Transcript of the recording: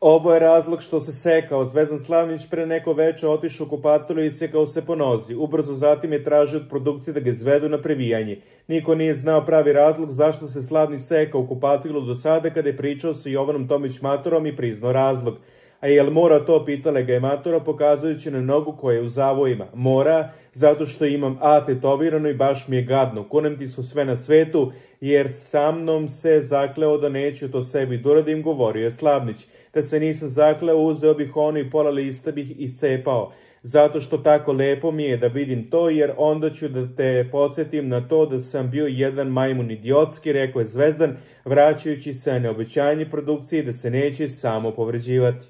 Ovo je razlog što se sekao. Zvezdan Slavnić pre neko veče otišao u kupatilo i isekao se po nozi. Ubrzo zatim je tražio od produkcije da ga izvedu na previjanje. Niko nije znao pravi razlog zašto se Slavnić sekao u kupatilu do sada kada je pričao sa Jovanom Tomić Maturom i priznao razlog. A jel mora to, pitale ga je Matura pokazujući na nogu koja je u zavojima. Mora, zato što imam A tetovirano i baš mi je gadno. Kunem ti su sve na svetu, jer sa mnom se zakleo da neću to sebi doradim, govorio je Slavnić. Da se nisam zakleo, uzeo bih ono i pola lista bih iscepao. Zato što tako lepo mi je da vidim to, jer onda ću da te podsjetim na to da sam bio jedan majmun idiotski, rekao je Zvezdan, vraćajući se na obećanje produkcije da se neće samo povređivati.